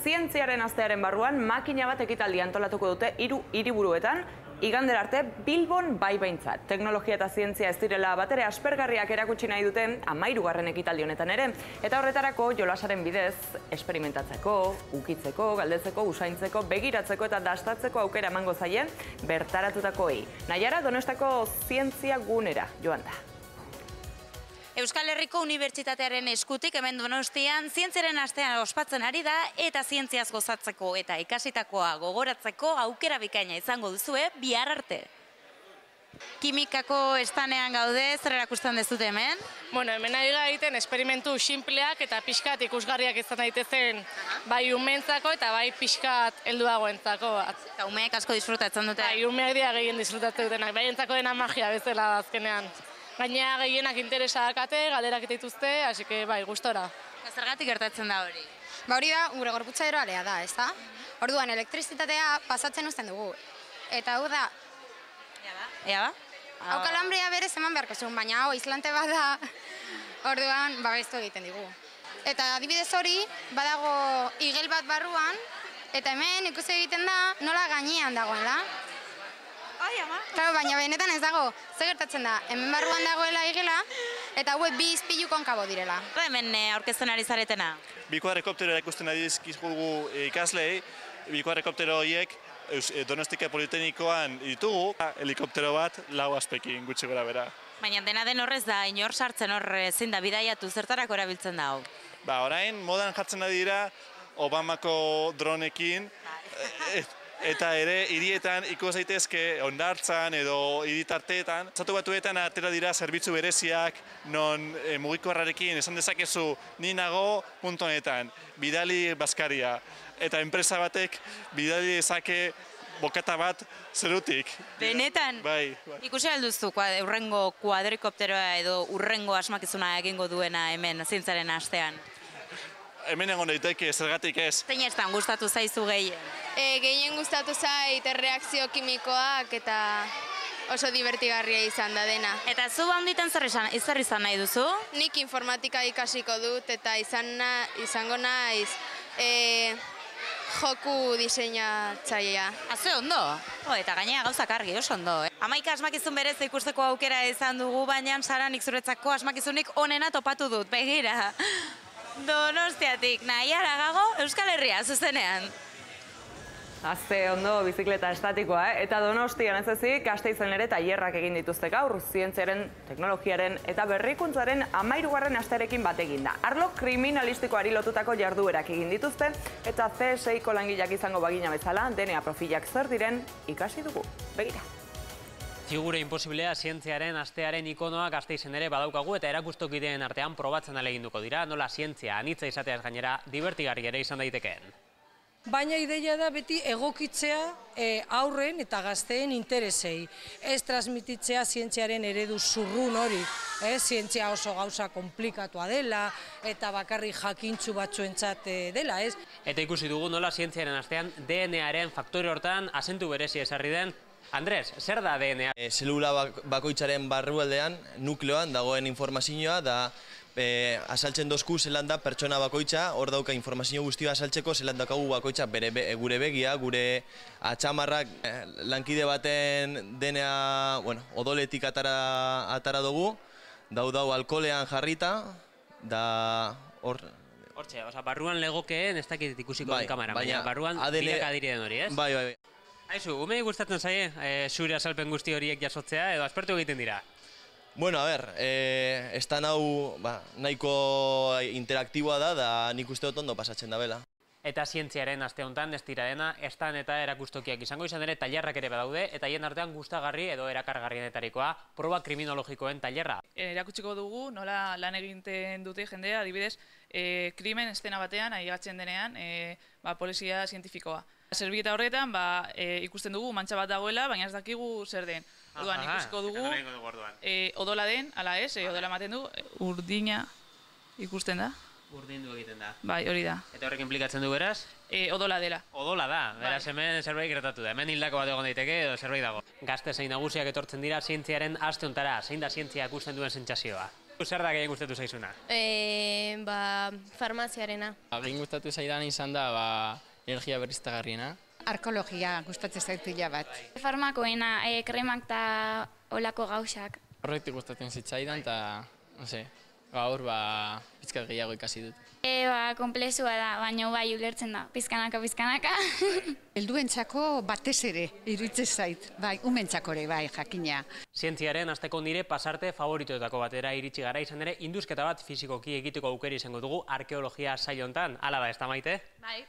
Zientziaren astearen barruan makina bat ekitaldi antolatuko dute 3 hiriburuetan, igandera arte Bilbon bai behintzat. Teknologia eta zientzia ez direla batere aspergarriak erakutsi nahi dute 13. ekitaldi honetan ere. Eta horretarako jolasaren bidez, esperimentatzeko, ukitzeko, galdetzeko, usaintzeko, begiratzeko eta dastatzeko aukera emango zaie bertaratutakoei. Naiara Donostako zientzia gunera joan da. Euskal Herriko Unibertsitatearen eskutik hemen Donostian zientziaren astean ospatzen ari da eta zientziaz gozatzeko eta ikasitakoa gogoratzeko aukera bikaina izango duzue bihar arte. Kimikako estanean gaude, zer erakusten dezute hemen? Bueno, hemen ari gara egiten esperimentu sinpleak eta pixkat ikusgarriak izan daitezen bai umeentzako eta bai pixkat helduagoentzako. Eta umeek asko disfrutatzen dute? Bai, umeak dira gehien disfrutatzen dutenak, bai entzako dena magia bezala azkenean. Gainera gehienak interesa dakate, galderak dituzte, hasi que bai, gustora. Zergatik gertatzen da hori? Hori da, gure gorputza eroalea da, ez da? Orduan, elektrizitatea pasatzen uzten dugu. Eta hau da... Ea ba? Hau kalambrea berez eman beharko zuen, baina hau islante bat da, orduan babestu egiten digu. Eta adibidez hori, badago igel bat barruan, eta hemen ikusi egiten da nola gainean dagoela. Claro, baina benetan ez dago, zer gertatzen da, hemen barruan dagoela igela, eta hauek bi izpilu konkabo direla. Hemen aurkezten ari zaretena? Bi kuadrikoptero ikusten ari dizkizugu ikaslei, bi kuadrikoptero horiek Donostia Politeknikoan ditugu, helikoptero bat 4 aspekin gutxi gora bera. Baina dena den horrez da, inor sartzen hor ezin da bidaiatu, zertarako erabiltzen da hau? Orain modan jartzen ari dira Obamako dronekin, eta ere hirietan ikus daitezke hondartzan edo hiritarteetan. Estatu Batuetan atera dira zerbitzu bereziak non mugikorrarekin esan dezakezu ni nago puntu honetan, bidali bazkaria. Eta enpresa batek bidali dezake bokata bat zerutik. Benetan? Bai. Ikusi alduzu urrengo kuadrikopteroa edo urrengo asmakizuna egingo duena hemen zientziaren astean? Hemen egon daiteke, zergatik ez. Zein estan gustatu zaizu gehien? Gehien gustatu zait erreakzio kimikoak eta oso divertigarria izan da dena. Eta zu handitan zer izan nahi duzu? Nik informatika ikasiko dut eta izango naiz joku diseinatzailea. Ze ondo? Eta gainera gauzak argi, oso ondo. 11 asmakizun berez ikusteko aukera izan dugu, baina Saranik zuretzako asmakizunik onena topatu dut, begira. Donostiatik, Naiara Gago, Euskal Herria, zuzenean. Azte ondo bizikleta estatikoa, eta Donostian ez ezik, Gasteizen ere tailerrak egin dituzte gaur, zientziaren, teknologiaren eta berrikuntzaren 13. astearekin bat eginda. Arlo kriminalistikoari lotutako jarduerak egin dituzte, eta CSIko langileak izango bagina bezala, DNA profilak zer diren ikasi dugu. Begira. Figure imposiblea zientziaren astearen ikonoa Gasteizen ere badaukagu eta erakustokideen artean probatzen ahaleginduko dira, nola zientzia anitza izateaz gainera divertigarri ere izan daitekeen. Baina ideia da beti egokitzea aurren eta gazteen interesei. Ez transmititzea zientziaren eredu zurrun hori. Zientzia oso gauza komplikatua dela eta bakarrik jakintsu batzuentzat dela. Eta ikusi dugu nola zientziaren astean DNA-aren faktore hortan azentu berezi ezarri den. Andres, zer da DNA? Zelula bakoitzaren barrualdean, nukleoan dagoen informazioa da asaltzen dozku zelan da pertsona bakoitza, hor dauka informazio guztia asaltzeko zelan daukagu bakoitza gure begia, gure atxamarrak, lankide baten DNA odoletik atara dugu, dau alkoholean jarrita, da hor... Hortxe, barruan legokeen ez dakit ikusiko den kamara, baina barruan bilaka dirien hori, ez? Bai. Aizu, umei gustatzen zaie zure azalpen guzti horiek jasotzea edo aspertu egiten dira? Bueno, a ber, estan hau nahiko interaktiboa da nik uste dut ondo pasatzen da bela. Eta zientziaren aste honetan ez dira dena, estan eta erakustokiak izango izan ere tailerrak ere badaude, eta hien artean gustagarri edo erakargarrienetarikoa proba kriminologikoen tailerra. Erakutsiko dugu nola lan egiten dute jendea, adibidez, krimen estena batean, aigatzen denean, polizia zientifikoa. Zerbieta horretan ikusten dugu mantxa bat dagoela, baina ez dakigu zer den. Orduan ikusiko dugu odola den, ala ez, odola ematen du, urdina ikusten da. Urdindu egiten da. Bai, hori da. Eta horrek implikatzen du beraz? Odola dela. Odola da, beraz hemen zerbait gertatu da. Hemen hildako bat egon daiteke edo zerbait dago. Gazte zein nagusiak etortzen dira zientziaren aste hontara, zein da zientzia ikusten duen sentsazioa? Zer da gehien gustatu zaizuna? Farmaziarena. Egin gustatu zaidan izan da, energia berriztagarriena. Arkeologia gustatzen zaitila bat. Farmakoena, kremak eta olako gauzak. Horretik gustatzen zitzaidan, eta, gaur, pizkat gehiago ikasi dut. Komplexua da, baina bai ulertzen da, pizkanaka. Helduentzako batez ere, iruditzen zait, bai, umentzako ere, bai, jakina. Zientziaren asteko nire pasarte favoritoetako batera iritsi gara, izan ere, indusketa bat fizikoki egiteko aukera izango dugu arkeologia saio hontan. Hala da, ez da, Maite? Bai.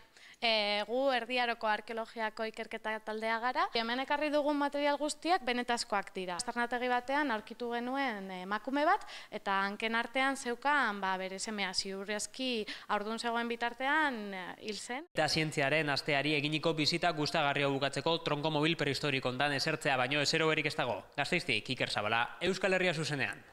Gu erdiaroko arkeologiako ikerketa taldea gara. Hemen ekarri dugun material guztiak benetazkoak dira. Aztarnategi batean aurkitu genuen emakume bat, eta hanken artean zeukan bere semea ziurrezki haurdun zegoen bitartean hil zen. Eta zientziaren asteari eginiko bizita gustagarria bukatzeko tronko mobil prehistoriko hontan esertzea baino ezero berik ez dago. Gasteiztik, Iker Zabala, Euskal Herria zuzenean.